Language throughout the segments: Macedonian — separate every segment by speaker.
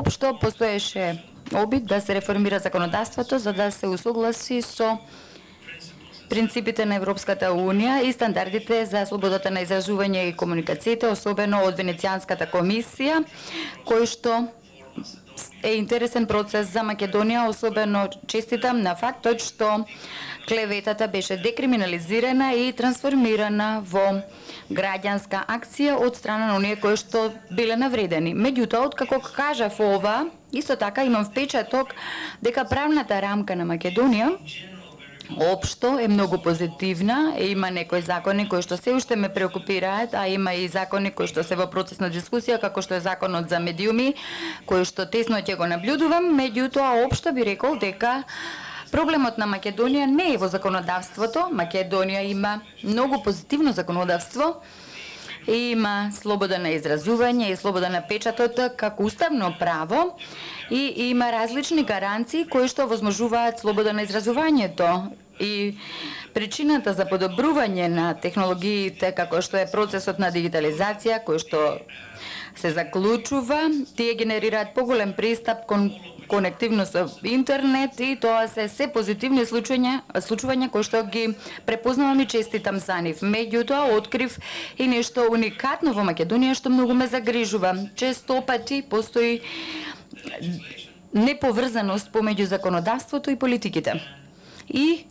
Speaker 1: Општо постоеше обид да се реформира законодавството за да се усогласи со принципите на Европската Унија и стандардите за слободата на изразување и комуникациите, особено од Венецијанската комисија, кој што е интересен процес за Македонија, особено честитам на фактот што клеветата беше декриминализирана и трансформирана во граѓанска акција од страна на оние кои што биле навредени. Меѓутоа, откако кажав ова, исто така имам впечаток дека правната рамка на Македонија општо е многу позитивна, има некои закони кои што се уште ме преокупираат, а има и закони кои што се во процес на дискусија, како што е законот за медиуми, кој што тесно ќе го наблюдувам, меѓутоа општо би рекол дека проблемот на Македонија не е во законодавството. Македонија има многу позитивно законодавство, има слобода на изразување и слобода на печатот како уставно право и има различни гаранции кои што возможуваат слобода на изразувањето. И причината за подобрување на технологиите како што е процесот на дигитализација кој што се заклучува, тие генерираат поголем пристап кон конективност со интернет и тоа се позитивни случувања кои што ги препознавам и честитам за нив. Меѓутоа открив и нешто уникатно во Македонија што многу ме загрижува. Често пати постои неповрзаност помеѓу законодавството и политиките. И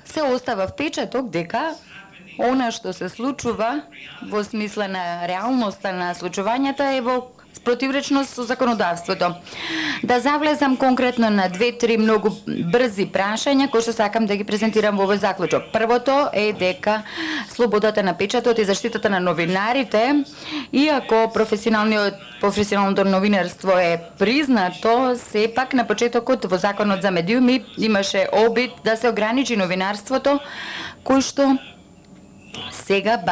Speaker 1: се остава впечаток дека она што се случува во смисла на реалноста на случувањата е во противречност со законодавството. Да завлезам конкретно на 2-3 многу брзи прашања кои што сакам да ги презентирам во овој заклучок. Првото е дека слободата на печатот и заштитата на новинарите, иако професионалното новинарство е признато, сепак на почетокот во законот за медиуми имаше обид да се ограничи новинарството, кој што сега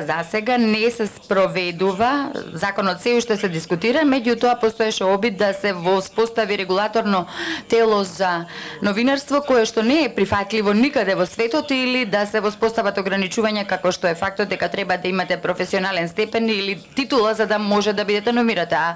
Speaker 1: за сега не се спроведува, законот се уште се дискутира, меѓутоа постоеше обид да се воспостави регулаторно тело за новинарство кое што не е прифатливо никаде во светот или да се воспостават ограничувања како што е фактот дека треба да имате професионален степен или титула за да може да бидете номирате. А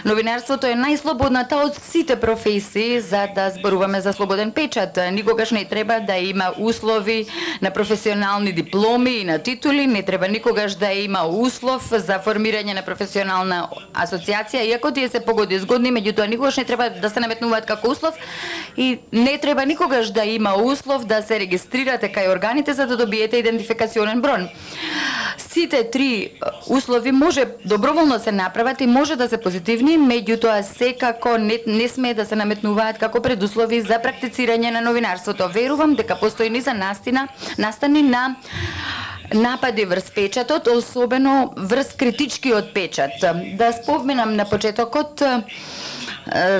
Speaker 1: новинарството е најслободната од сите професии за да зборуваме за слободен печат. Никогаш не треба да има услови на професионални дипломи и на титули, не треба никогаш да има услов за формирање на професионална асоциација, иако тие се погоди згодни, меѓутоа никогаш не треба да се наметнуваат како услов и не треба никогаш да има услов да се регистрирате кај органите за да добиете идентификационен брон. Сите три услови може доброволно се направат и може да се позитивни, меѓутоа секако не смее да се наметнуваат како предуслови за практицирање на новинарството. Верувам дека постои низа настани на напади врз печатот, особено врз критичкиот печат. Да споменам на почетокот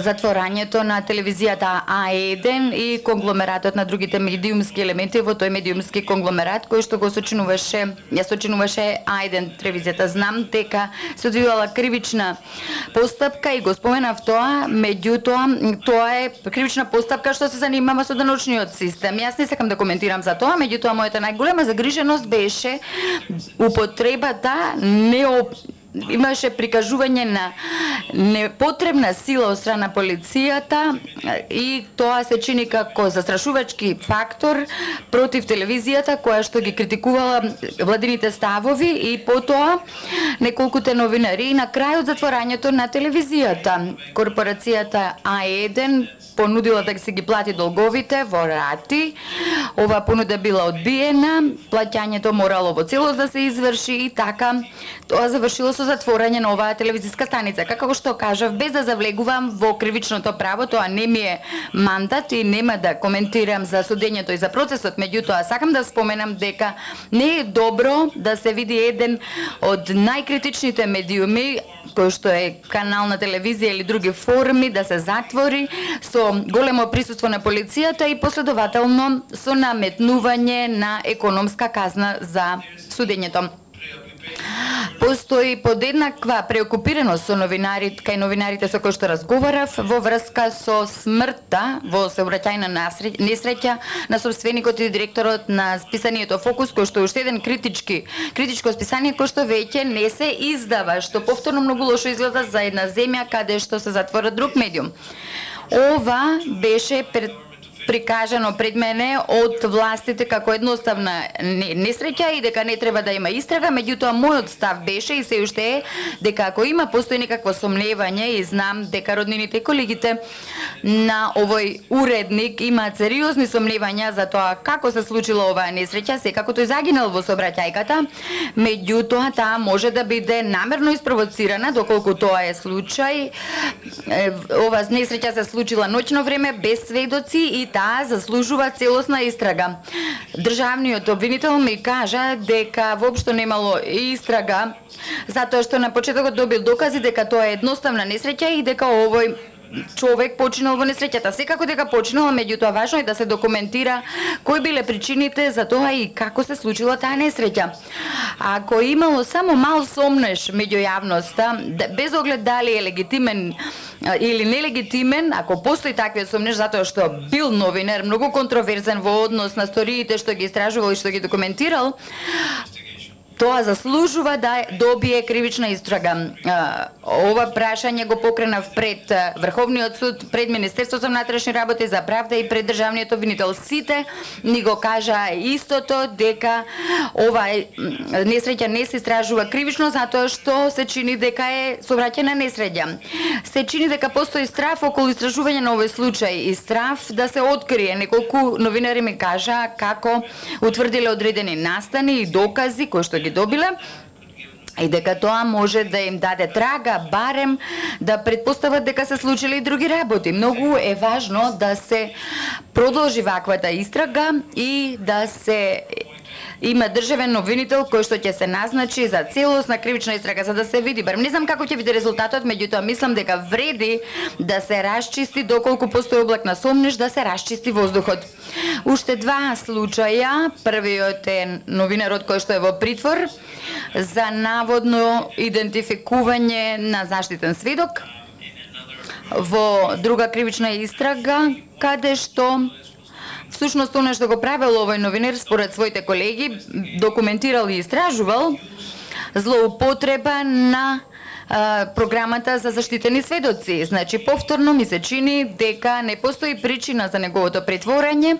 Speaker 1: затворањето на телевизијата А1 и конгломератот на другите медиумски елементи во тој медиумски конгломерат кој што ја сочинуваше А1 телевизијата. Знам дека се одвивала кривична постапка и го споменав тоа, меѓутоа тоа е кривична постапка што се занимава со даночниот систем. Јас не сакам да коментирам за тоа, меѓутоа мојата најголема загриженост беше употребата имаше прикажување на непотребна сила од страна полицијата и тоа се чини како застрашувачки фактор против телевизијата која што ги критикувала владините ставови и потоа неколкуте новинари и на крајот затворањето на телевизијата. Корпорацијата А1 понудила да се ги плати долговите во рати. Ова понуда била одбиена, плаќањето морало во целост да се изврши и така тоа завршило со затворање на оваа телевизиска станица. Како што кажав, без да завлегувам во кривичното право, тоа не ми е мандат и нема да коментирам за судењето и за процесот, меѓутоа сакам да споменам дека не е добро да се види еден од најкритичните медиуми кој што е канал на телевизија или други форми да се затвори со големо присуство на полицијата и последователно со наметнување на економска казна за судењето. Постои подеднаква преокупираност со новинарите, кај новинарите со кои што разговарав во врска со смртта во сообраќајна несреќа на собственикот и директорот на списанието Фокус, кој што е уште еден критичко списание кој што веќе не се издава, што повторно многу лошо изгледа за една земја каде што се затвора друг медиум. Ова беше прикажано пред мене од властите како едноставна несреќа и дека не треба да има истрага, меѓутоа мојот став беше и се уште е дека ако постои некакво сомневање и знам дека роднините и колегите на овој уредник имаат сериозни сомневања за тоа како се случила оваа несреќа, секако тој загинал во сообраќајката, меѓутоа таа може да биде намерно испровоцирана, доколку тоа е случај. Ова несреќа се случила ноќно време без сведоци и таа заслужува целосна истрага. Државниот обвинител ми кажа дека воопшто немало истрага, затоа што на почетокот добил докази дека тоа е едноставна несреќа и дека овој човек починал во несреќата. Секако дека починал, меѓутоа важно е да се документира кои биле причините за тоа и како се случила таа несреќа. Ако имало само мал сомнеш меѓу јавноста, без оглед дали е легитимен или нелегитимен, ако постои таквиот сомнеш затоа што бил новинар многу контроверзен во однос на сториите што ги истражувал и што ги документирал, тоа заслужува да добие кривична истрага. Ова прашање го покренав пред Врховниот суд, пред Министерството за внатрешни работи, за правда и пред државниот обвинител. Сите ни го кажа истото, дека ова несреќа не се истражува кривично затоа што се чини дека е сообраќајна несреќа. Се чини дека постои страф околу истражување на овој случај и страф да се открие. Неколку новинари ми кажа како утврдиле одредени настани и докази кои што ги добиле и дека тоа може да им даде трага, барем да предпостават дека се случили и други работи. Многу е важно да се продолжи ваквата истрага и да се има државен обвинител кој што ќе се назначи за целосна кривична истрага за да се види. Барем не знам како ќе биде резултатот, меѓутоа мислам дека вреди да се расчисти доколку постои облак на сомнеш, да се расчисти воздухот. Уште два случаја. Првиот е новинарот кој што е во притвор за наводно идентификување на заштитен сведок во друга кривична истрага, каде што всушност она што го правил овој новинар според своите колеги, документирал и истражувал злоупотреба на програмата за заштитени сведоци. Значи, повторно ми се чини дека не постои причина за неговото притворање.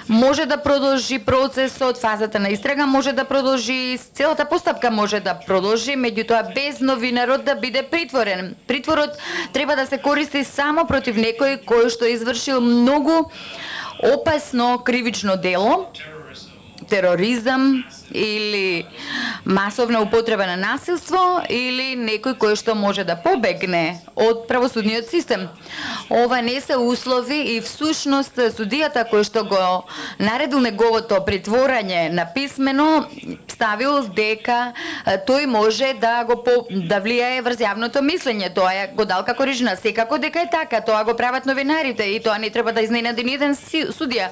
Speaker 1: Може да продолжи процесот, фазата на истрага може да продолжи, целата постапка може да продолжи, меѓутоа без новинарот да биде притворен. Притворот треба да се користи само против некој кој што извршил многу опасно кривично дело, тероризам или масовна употреба на насилство или некој кој што може да побегне од правосудниот систем. Ова не се услови и всушност судијата кој што го наредил неговото притворање на писмено ставил дека тој може да влијае врз јавното мислење. Тоа го дал како решение. Секако дека е така, тоа го прават новинарите и тоа не треба да изненади ни еден судија.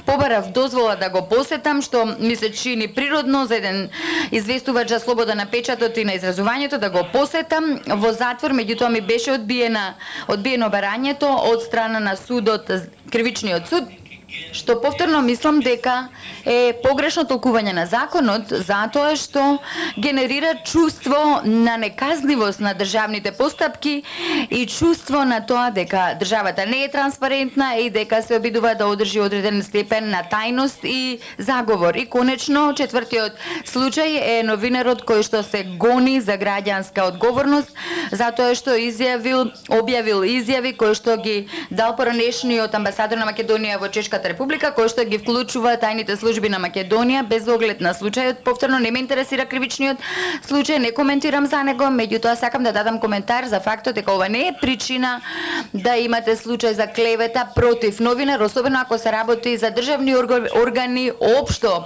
Speaker 1: Побарав дозвола да го посетам, што ми се чини природно за еден известувач за слобода на печатот и на изразувањето да го посетам во затвор, меѓутоа ми беше одбиено барањето од страна на судот, кривичниот суд, што повторно мислам дека е погрешно толкување на законот, затоа што генерира чувство на неказливост на државните постапки и чувство на тоа дека државата не е транспарентна и дека се обидува да одржи одреден степен на тајност и заговор. И конечно, четвртиот случај е новинарот кој што се гони за граѓанска одговорност, затоа што објавил изјави кои што ги дал поранешниот амбасадор на Македонија во Чешката република, кој што ги вклучува тајните служби на Македонија без оглед на случајот. Повторно не ме интересира кривичниот случај, не коментирам за него, меѓутоа сакам да дадам коментар за фактот дека ова не е причина да имате случај за клевета против новинар, особено ако се работи за државни органи општо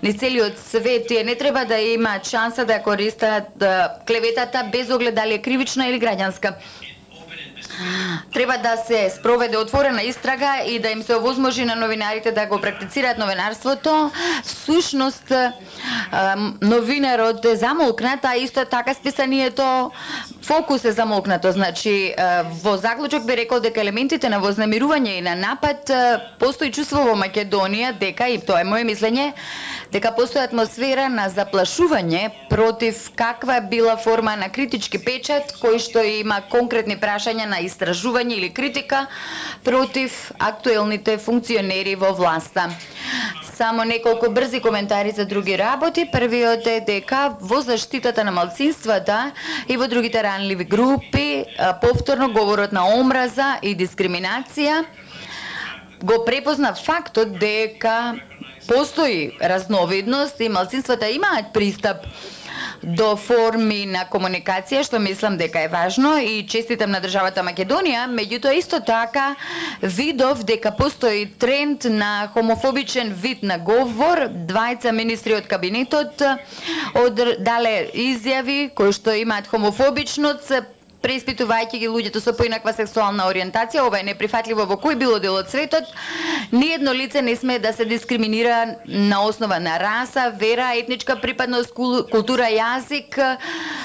Speaker 1: низ целиот свет. Тие не треба да имаат шанса да користат клеветата без оглед дали е кривична или граѓанска. Треба да се спроведе отворена истрага и да им се овозможи на новинарите да го практицираат новинарството. Всушност, новинарот е замолкнат, а исто така списанието фокус е замолкнато. Значи, во заклучок би рекол дека елементите на вознемирување и на напад постои чувство во Македонија дека, и тоа е моје мислење, дека постои атмосфера на заплашување против каква била форма на критички печат кој што има конкретни прашања на истражување или критика против актуелните функционери во власта. Само неколку брзи коментари за други работи. Првиот е дека во заштитата на малцинствата и во другите ранливи групи повторно говорот на омраза и дискриминација го препозна фактот дека постои разновидност и малцинствата имаат пристап до форми на комуникација, што мислам дека е важно и честитам на државата Македонија, меѓутоа исто така видов дека постои тренд на хомофобичен вид на говор. Двајца министри од кабинетот дале изјави кои што имаат хомофобичност, преиспитувајќи ги луѓето со поинаква сексуална ориентација. Ова е неприфатливо во кој било дел од светот. Ниедно лице не сме да се дискриминира на основа на раса, вера, етничка припадност, култура, јазик,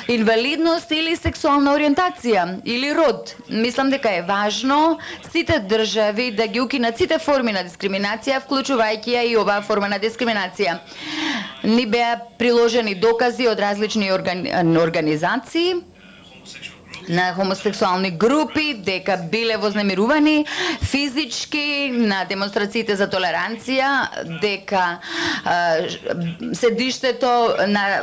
Speaker 1: инвалидност или сексуална ориентација или род. Мислам дека е важно сите држави да ги укинат сите форми на дискриминација, вклучувајќи ја и оваа форма на дискриминација. Ни беа приложени докази од различни организации на хомосексуални групи дека биле вознемирувани физички на демонстрациите за толеранција, дека седиштето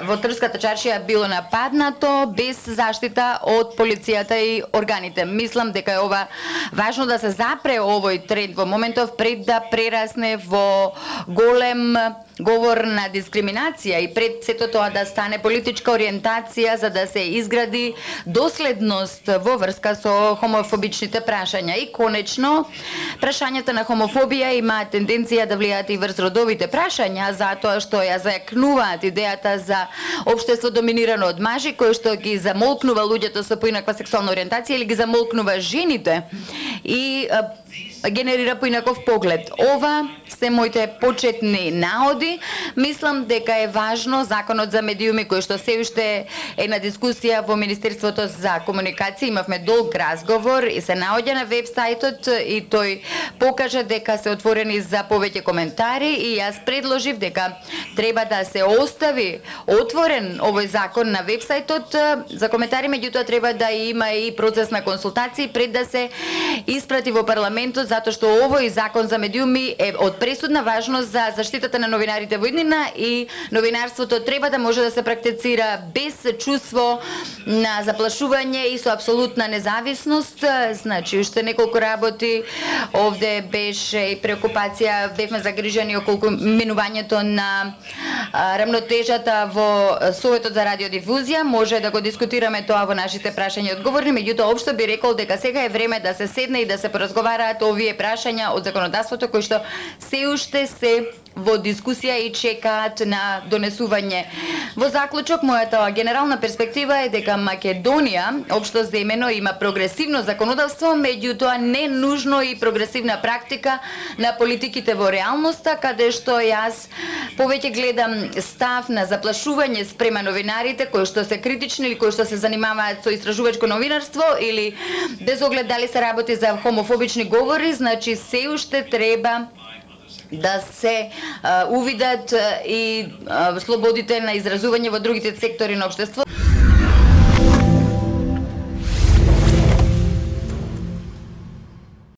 Speaker 1: во Трската чаршија било нападнато без заштита од полицијата и органите. Мислам дека е ова важно да се запре овој тренд во моментов пред да прерасне во голем говор на дискриминација и пред сето тоа да стане политичка ориентација за да се изгради доследност во врска со хомофобичните прашања. И конечно, прашањата на хомофобија имаат тенденција да влијаат и врз родовите прашања, затоа што ја зајакнуваат идејата за општество доминирано од мажи, кој што ги замолкнува луѓето со поинаква сексуална ориентација или ги замолкнува жените и генерира поинаков поглед. Ова се моите почетни наоди. Мислам дека е важно законот за медиуми кој што се уште е на дискусија во Министерството за комуникација. Имавме долг разговор и се наоѓа на веб-сајтот и тој покажа дека се отворени за повеќе коментари и јас предложив дека треба да се остави отворен овој закон на веб-сајтот за коментари, меѓутоа треба да има и процес на консултации пред да се испрати во парламентот, затоа што овој закон за медиуми е од пресудна важност за заштитата на новинарите во иднина и новинарството треба да може да се практицира без чувство на заплашување и со апсолутна независност. Значи, уште неколку работи овде беше и преокупација, бевме загрижени околу минувањето на рамнотежата во Советот за радиодифузија. Може да го дискутираме тоа во нашите прашања и одговори, меѓутоа општо би рекол дека сега е време да се седне и да се поразговараат овие прашања од законодавството кои што се уште се во дискусија и чекаат на донесување. Во заклучок, мојата генерална перспектива е дека Македонија, општо земено, има прогресивно законодавство, меѓутоа не нужно и прогресивна практика на политиките во реалноста, каде што јас повеќе гледам став на заплашување спрема новинарите кои што се критични или кои што се занимаваат со истражувачко новинарство или без оглед дали се работи за хомофобични говори. Значи се уште треба да се увидат и слободите на изразување во другите сектори на општеството.